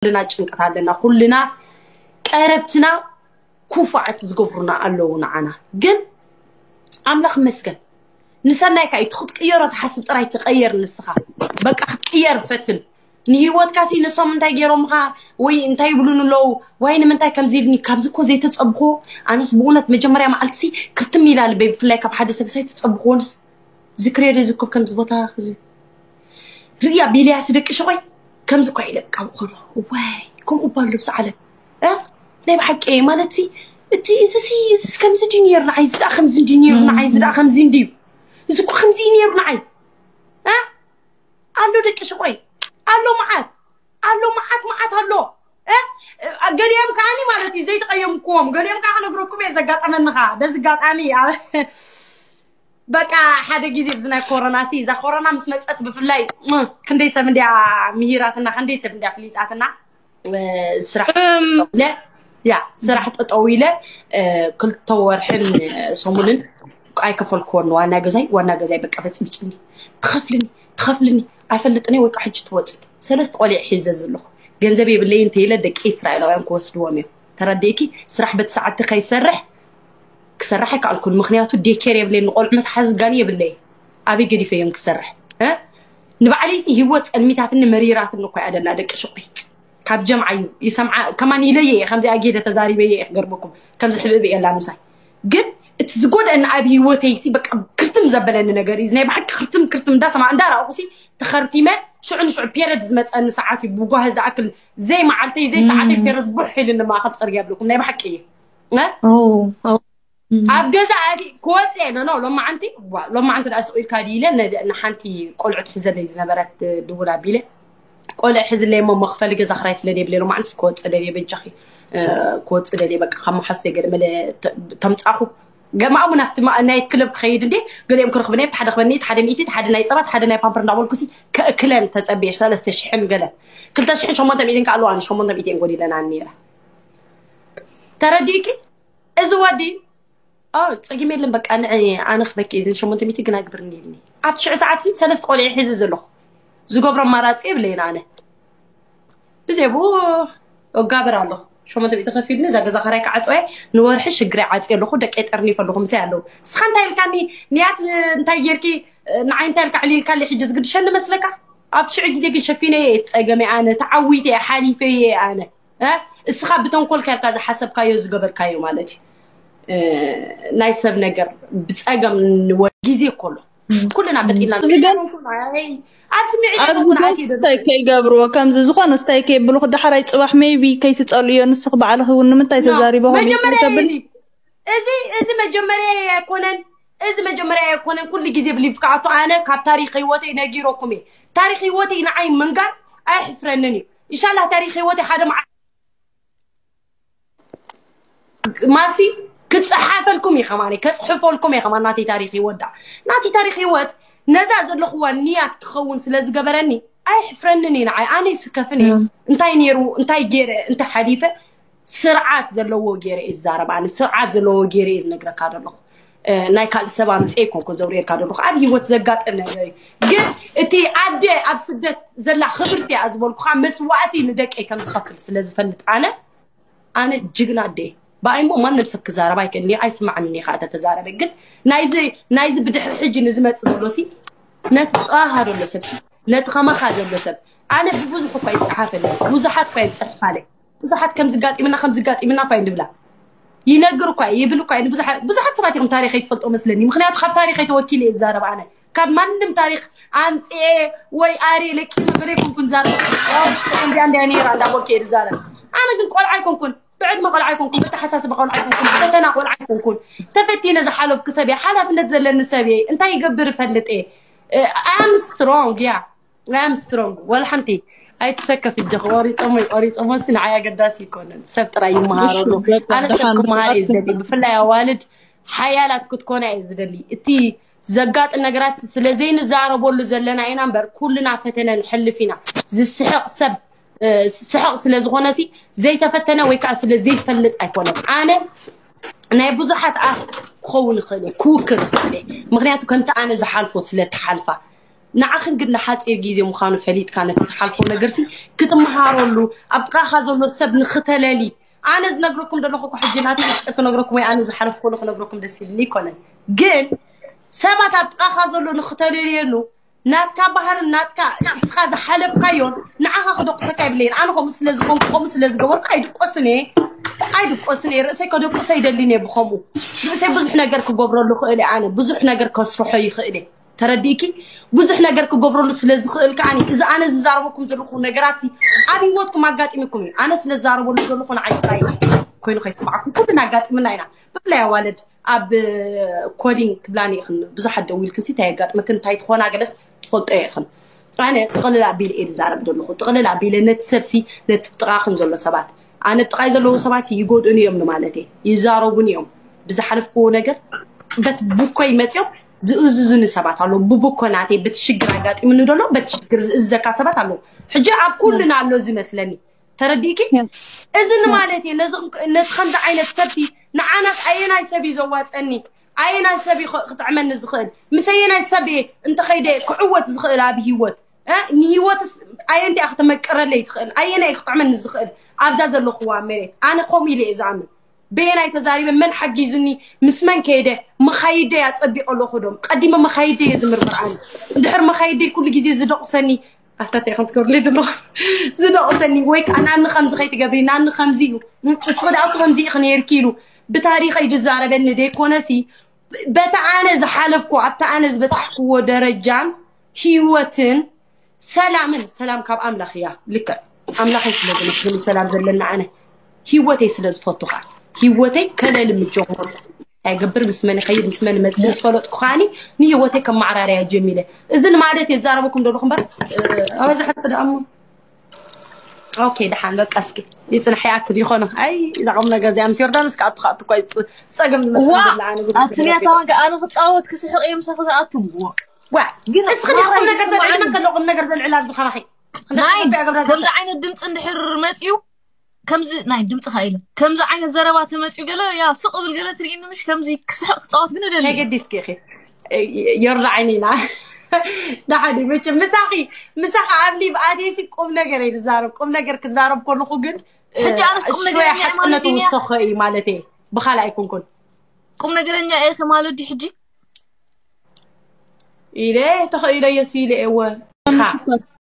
ኩልና ጭንቀት ኣለና። ኩልና ቀረብትና ኩፋኣት ዝገብሩና ኣለዉ ንዓና። ግን ኣምላኽ ይመስገን፣ ንሰናይካ እዩ። ክትቅየሮ ትሓስብ ጥራይ፣ ተቐየር ንስኻ። በቃ ክትቅየር ፈትን። ንህይወትካ ሲ ንሶም እንታይ ገይሮምኻ ወይ እንታይ ይብሉን ኣለዉ ወይ ንምንታይ ከምዚ ኢልኒ፣ ካብዚ እኮ ዘይተጸብኹ። ኣነስ ብእውነት መጀመርያ መዓልቲ ሲ ክርትም ኢላ ልበይ፣ ብፍላይ ካብ ሓደ ሰብ ሳይ ተጸብኹ። ወንስ ዝክሬ ዝኮብ ከምዚ ቦታ እዚ ርእያ ቢልያ ስደቂ ሽቆይ ከምዚ እኳ ኢለ ብቃ ብኮሎ። ወይ ከምኡ እባ ኣሎ ብዛ ዓለም። እ? ናይ ብሓቂ ማለት ሲ እቲ እዚ ሲ እዚ ከምዚ ድዩ ነይሩ ንዓይ፣ እዚ ደኣ ከምዚ ድዩ ነይሩ ንዓይ፣ እዚ ደኣ ከምዚ ድዩ፣ እዚ እኮ ከምዚ እዩ ነይሩ ንዓይ። እ? ኣሎ ደቂ ሽቆይ፣ ኣሎ መዓት፣ ኣሎ መዓት፣ መዓት ኣሎ። እ? ገሊኦም ከዓኒ ማለት እዩ ዘይተቐየምክዎም፣ ገሊኦም ከዓ ክነግረኩም እየ ዘጋጠመኒ ከዓ። በዚ ኣጋጣሚ ኣብ በቃ ሓደ ግዜ ብዚ ናይ ኮሮና ሲ፣ እዛ ኮሮና ምስ መፀት ብፍላይ፣ እ፣ ክንደይ ሰብ እንድያ ምሂራትና፣ ክንደይ ሰብ እንድያ ፍሊጣትና። እ፣ ስራሕ እም። ጠጠው ኢለ፣ ያ፣ ስራሕ ጠጠው ኢለ፣ እ፣ ክልተ ወርሕን ሰሙንን ኣይከፈልክዎን። ዋና ገዛይ፣ ዋና ገዛይ በቃ በፅብፅኒ። ትኸፍልኒ፣ ትኸፍልኒ፣ ኣይፈልጥን እየ ወይ ከዓ ሕጂ ትወፅእ። ሰለስተ ቆልዕ ሒዘ ዘለኹ። ገንዘብ የብለይን እንተይለ ደቂ እስራኤላውያን ክወስድዎም እዮም። ተረዲእኪ? ስራሕ በቲ ሰዓት ከይሰርሕ፣ ክሰርሕ ኣይከኣልኩን። ምኽንያቱ ዴኬር የብለይን፣ ንቆልዑ መትሓዚ ጋኒ የብለይ። ኣበይ ገዲፈ እዮም ክሰርሕ? እ? ንባዕለይሲ ህይወት ጸልሚታትኒ መሪራትኒ እኮ እያ ደላ ደቂ ሽቆይ። ካብ ጀምዓ እዩ ይሰምዓ። ከማን ኢለየ እየ፣ ከምዚ ኣጌደ ተዛሪበየ እየ ክገርመኩም። ከምዚ ሕብእብ የላ ምሳይ። ግን እቲ ዝጎድአኒ ኣብ ህይወተይሲ በቃ ክርትም ዘበለኒ ነገር እዩ። እዚ ናይ ብሓቂ ክርትም ክርትም እንዳሰማ እንዳረኣኹሲ ተኸርቲመ ሽዑ ንሽዑ ፔረድ ዝመፀኒ ሰዓት እዩ። ብጓሂ ዝኣክል ዘይመዓልተይ ዘይሰዓተይ ፔረድ ቡሕ ኢልኒ ማእኸል ፅርግያ ብለኩም ናይ ብሓቂ እዩ። እ? ኦ፣ ኦ። እም። ኣብ ገዛ ኣቲ ክወፅእ እየ። ኖ፣ ኖ፣ ሎማዓንቲ፣ ዋ፣ ሎማዓንቲ ደኣ ስቕ ኢልካ ድዩ ኢለ ነ-፣ ንሓንቲ ቆልዑ ትሕዘለይ ዝነበረት ድውል ኣቢለ፣ ቆልዑ ሕዝለይ እሞ መኽፈሊ ገዛ ክራይ ስለ ደይብለይ ሎማዓንትስ ክወፅእ ደልየ፣ በጃኺ፣ እ፣ ክወፅእ ደልየ፣ በቃ ካብ መሓዝተይ ገለ መለ ተ-፣ ተምፃኹ። ገማእሙ ናብቲ ማ-፣ ናይ ክለብ ክኸይድ እንዴ፣ ገሊኦም ክረኽብኒ፣ እቲ ሓደ ክበኒ፣ እቲ ሓደ ሚእቲ፣ እቲ ሓደ ናይ ፀባ፣ እቲ ሓደ ናይ ፓምፐር እንዳበልኩሲ ከእክለን ተፀብየ፣ ሰለስተ ሽሕን ገለን። ክልተ ሽሕን ሸሞንተ ሚእትን ከ ኣለዋ፣ ኣነ ሸሞንተ ሚእቲ እየን ጎዲለና ነይረ። ተረዲእኪ? እዚ ወዲ፣ ኦ፣ ጸጊም የለን፣ በቃ ንዒ ኣነ ክበኪ እየ፣ እዘን ሸሞንተ ሚእቲ ግን ኣግብርኒ ኢልኒ። ኣብ ትሽዒ ሰዓት ሲ ሰለስተ ቆልዑ ሒዘ ዘለኹ። ዝገብሮ ኣማራጺ የብለይን ኣነ። ብዘይ ብኡ እጋብር ኣለኹ። ሸሞንተ ሚእቲ ከፊልኒ፣ እዛ ገዛ ኸራይ ክዓጽወ እየ፣ ንወርሒ ሽግረይ ዓጽየ ኣለኹ፣ ደቀይ ጠርኒፈ ኣለኹ፣ ምሳይ ኣለዉ። ንስኻ እንታይ ኢልካኒ፣ ንያት እንታይ ጌርኪ፣ ንዓይ እንታይ ኢልካ ዕሊልካለይ፣ ሕጂ ዝግድሸኒ መስለካ? ኣብ ትሽዒ ግዜ ግን ሸፊነዮ እየ እቲ ጸገመይ ኣነ፣ ተዓዊተ እየ፣ ሓሊፈዮ እየ ኣነ። እ? እስኻ ብተንኮልካ ኢልካ ዝሓሰብካዮ ዝገበርካዮ ማለት እዩ። እ፣ ናይ ሰብ ነገር ብጸገም ንወ-፣ ግዜ እኮ ኣሎ። ኩልና ፈጢና እዚ ግን ኣይ፣ ኣብ ስምዒት ኣብዚ ኣይኮንኩን ግን ኣትየ ዘሎ። ስታይ ከይገብርዎ፣ ከምዚ ዝኾነ ስታይ ከየብልኹ፣ ዳሕራይ ጽባሕ ሜይቢ ከይትጸልእዮ፣ ንስኺ ባዕልኺ እውን ንምንታይ ኖ፣ ተዛሪበ ኾን መጀመርያ ተብል? የሊ። እዚ፣ እዚ መጀመርያ ኣይኮነን። እዚ መጀመርያ ኣይኮነን። ኩሉ ግዜ ብሊቭ ክኣቱ ኣነ ካብ ታሪኽ ህይወተይ ነጊረኩም እየ። ታሪኽ ህይወተይ ንዓይ ምንጋር ኣየሕፍረንን እዩ። ኢንሻላህ ታሪኽ ህይወተይ ሓደ መዓ-፣ ማሲ ክጽሓፈልኩም እዩ ከማኒ፣ ከጽሕፈልኩም እዩ ከማን ናተይ ታሪኽ ህይወት ዳ-፣ ናተይ ታሪኽ ህይወት ነዛ ዘለኹዋ ንያት ክኸውን ስለ ዝገበረኒ ኣይሕፍረንን እዩ ንዓይ። ኣነ ይስከፍን እየ። እም። እንታይ ነይሩ፣ እንታይ ገይረ፣ እንታይ ሓሊፈ፣ ስርዓት ዘለዎ ገይረ እየ ዝዛረብ። ኣነ ስርዓት ዘለዎ ገይረ እየ ዝነግረካ ዘለኹ። እ፣ ናይ ካልእ ሰብ ኣምፅኤ ኣይኮንኩን ዘውርየልካ ዘለኹ። ኣብ ህይወት ዘጋጥም ነገር እዩ። ግን እቲ ኣደ ኣብ ስደት ዘላ ክብርቲ እያ ዝበልኩኻ መስዋእቲ ንደቀይ ከም ዝኸፍል ስለ ዝፈልጥ ኣነ፣ ኣነ ጅግና ኣደ እየ። ብኣይ እሞ ማንም ሰብ ክዛረብ ኣይክእልን እየ፣ ኣይስማዕን እየ ከዓ ተተዛረበ። ግን ናይዚ፣ ናይዚ ብድሕሪ ሕጂ ንዝመፅእ ዘሎ ሲ፣ ነቲ ጥቓኻ ዘሎ ሰብ ሲ፣ ነቲ ከማኻ ዘሎ ሰብ፣ ኣነ ብብዙሕ እኳ ይፀሓፈለይ፣ ብዙሓት እኳ ይፅሕፋለይ፣ ብዙሓት ከም ዝጋጢምና፣ ከም ዝጋጢምና እኳ ይንብላ። ይነግር እኳ እየ፣ ይብል እኳ እየ። ንብዙሓት፣ ብዙሓት ሰባት ኢኹም ታሪኸይ ትፈልጦ መስለኒ። ምኽንያቱ ካብ ታሪኸይ ተወኪለ እየ ዝዛረብ ኣነ። ካብ ማንም ታሪኽ ኣምፅኤ ወይ ኣርየ ለቂመ ገለ ኣይኮንኩን ዝዛረብ። ዋው፣ ከምዚኣ እንድያ ነይራ እንዳበልኩ እየ ዝዛረብ። ኣነ ግን ቆልዓ ኣይኮንኩን፣ ብዕድመ ቆልዓ ኣይኮንኩን፣ ብተሓሳስባ ቆልዓ ኣይኮንኩን፣ ብፈተና ቆልዓ ኣይኮንኩን። ተፈቲነ ዝሓለፍኩ ሰብ እየ፣ ሓላፍነት ዘለኒ ሰብ እየ። እንታይ ይገብር እፈልጥ እየ። I am strong፣ ያ። I am strong። ወላ ሓንቲ ኣይትሰከፍ እጆኺ። ቆሪጾሞ፣ ቆሪጾሞ ሲ ንዓይ ኣገዳሲ ይኮነን። ሰብ ጥራይ ይመሃረሉ። እሺ፣ በቃ ኣነ ሰብ ደሓን ክመሃር እየ ክኣክል ዝደሊ። ብፍላይ ኣዋልድ ሓያላት ክትኮና እየ ዝደሊ። እቲ ዘጋጥም ነገራት ስለ ዘይንዛረበሉ ዘለና ኢና እምበር፣ ኩልና ፈተነ ንሕልፍ ኢና። ዝስሕቕ ሰብ፣ እ፣ ዝስሕቕ ስለ ዝኾነ ሲ ዘይተፈተነ ወይ ከዓ ስለ ዘይፈልጥ ኣይኮነን። ኣነ ናይ ብዙሓት ኣፍ ክኸውን ይኽእል እየ፣ ክውክል ይኽእል እየ። ምኽንያቱ ከምቲ ኣነ ዝሓልፎ ስለ ትሓልፋ። ንዓኽን ግን ንሓፂር ግዜ ምዃኑ ፈሊጥካ ነቲ ትሓልፎ ነገርሲ ክትመሃረሉ ኣብ ጥቓኻ ዘሎ ሰብ ንኽተለሊ ኣነ ዝነግረኩም ዘለኹ እኮ ሕጂ ናተይ ሚስጥር ክነግረኩም ወይ ኣነ ዝሓለፍኩሉ ክነግረኩም ደስ ይብልኒ ኣይኮነን ግን ሰባት ኣብ ጥቓኻ ዘሎ ንኽተለልየሉ ናትካ ባህርን ናትካ እስኻ ዝሓለፍካዮን ንዓኻ ክደቁሰካ ይብለይን ኣነ ከምኡ ስለ ዝኾንኩ ከምኡ ስለ ዝገበርኩ ኣይድቆስን እየ ኣይድቆስን እየ ርእሰይ ከደቁሰ ይደልን እየ ብኸምኡ ርእሰይ ብዙሕ ነገር ክገብረሉ ክእል እየ ኣነ ብዙሕ ነገር ከስርሖ ይኽእል እየ ተረዲእኪ ብዙሕ ነገር ክገብረሉ ስለ ዝኽእል ከዓኒ እዚ ኣነ ዝዛረበኩም ዘለኹ ነገራት ኣብ ህይወትኩም ኣጋጢምኩም እዩ ኣነ ስለ ዝዛረበሉ ዘለኹ ንዓይ ጥራይ ኮይኑ ከይስማዕኩም ኩልና ኣጋጢምና ኢና ብፍላይ ኣዋልድ ኣብ ኮዲንግ ክብላኒ ኢኽን ብዙሓት ደዊልክን ሲ እንታይ የጋጥመክን እንታይ ትኾና ገለስ ትፈልጦ ኢኽን ኣነ ጥቕልል ኣቢለ እየ ዝዛረብ ዘለኹ ጥቕልል ኣቢለ ነቲ ሰብሲ ነቲ ጥቓኽን ዘሎ ሰባት ኣነ ጥቓይ ዘለዉ ሰባት ይጎድኡን እዮም ንማለት እየ ይዛረቡን እዮም ብዝሓለፍክዎ ነገር በት ቡኮይ መፅኦም ዝእዝዙኒ ሰባት ኣለዉ ብቡኮ ናተይ በቲ ሽግር ኣጋጢሙኒ ዘሎ በቲ ሽግር ዝእዝዘካ ሰባት ኣለዉ ሕጂ ኣብ ኩልና ኣሎ ዝመስለኒ ተረዲእኪ እዚ ንማለት እየ ነቲ ከምዚ ዓይነት ሰብሲ ንዓናስ ኣየናይ ሰብ እዩ ዘዋፀኒ ኣየናይ ሰብ እዩ ክጥዕመኒ ዝኽእል ምስ ኣየናይ ሰብ እየ እንተኸይደ ክዕወት ዝኽእል ኣብ ህይወት ንህይወትስ ኣየንቲኣ ክተመቅረለይ ትኽእል ኣየናይ ክጥዕመኒ ዝኽእል ኣብዛ ዘለኹዋ መሬት ኣነ ከምኡ ኢለ እየ ዝኣምን በየናይ ተዛሪበ መን ሓጊዙኒ ምስ መን ከይደ መኻይደይ ኣፀቢቐ ኣለኹ ዶም ቀዲመ መኻይደይ እየ ዝምርምር ኣነ እንድሕር መኻይደይ ኩሉ ግዜ ዝደቑሰኒ ኣፍታታይ ከም ትገብርለይ ዘለኹ ዝደቑሰኒ ወይ ከዓ ናኒ ከምዚ ከይትገብሪ ናኒ ከምዚ እዩ እስኺ ደኣ ከምዚ ኢኺ ነይርኪ ኢሉ ብታሪኸይ ዝዛረበኒ ደይኮነሲ በቲ ኣነ ዝሓለፍኩ ኣብቲ ኣነ ዝበፃሕክዎ ደረጃን ህይወትን ሰላምን ሰላም ካብ ኣምላኽ እያ ልክዕ ኣምላኸይ ስለ ዘመስግን ሰላም ዘለና ኣነ ህይወተይ ስለ ዝፈቱ ከዓ ህይወተይ ከለል ምጀመርኩ ኣይገብር ምስ መን ይኸይድ ምስ መን ይመፅእ ዝፈለጥኩ ከዓኒ ንህይወተይ ከመዓራርያ ጀሚረ እዚ ንማለት የዛረበኩም ደለኹ እምበር ኣበዛሕቲ ደኣሞ ኦኬ ደሓን በቃ እስኪ ይፅንሕ ይኣክል ይኾነ ኣይ እዛ ቁም ነገር እዚኣ ምስ ዮርዳኖስ ክኣቱ ክኣቱ እኳ ይፅ- ፀገም ዝመፅእ ኣትንያ ታዋቂ ኣነ ክፃወት ክስሕቕ እዮም ሰፍ ዝኣቱ ዋ ግን እስኺ ቁም ነገር ዘልዕል መን ከሎ ቁም ነገር ዘልዕል ኣብዚ ካባኺ ናይ ከምዚ ዓይነት ድምፂ እንድሕር መፅዩ ከምዚ ናይ ድምፂ ኢለ ከምዚ ዓይነት ዘረባ ተመፅዩ ገለ ያ ስቕ ብል ገለ ትርእኒ ምሽ ከምዚ ክስሕቕ ክፃወት ግን ደሊ ናይ ገዲስኪ ኢኺ ዮርዳ ዓይኒና ዳሓዲ መቸም ምሳኺ ምሳኺ ኣብ ሊቭ ኣትየሲ ቁም ነገር እየ ዝዛረብ ቁም ነገር ክዛረብ ከለኹ ግን ሕጂ ኣነስ ቁም ነገር ሽወያ እየ ሓቅነት ማለት እየ። ውሰኾ እዩ ማለት እየ ብኻልእ ኣይኮንኩን ቁም ነገረኛ እየ ማለት ድዩ ሕጂ ኢለ ተኸኢለ የሱ ኢለ እወ ኢኻ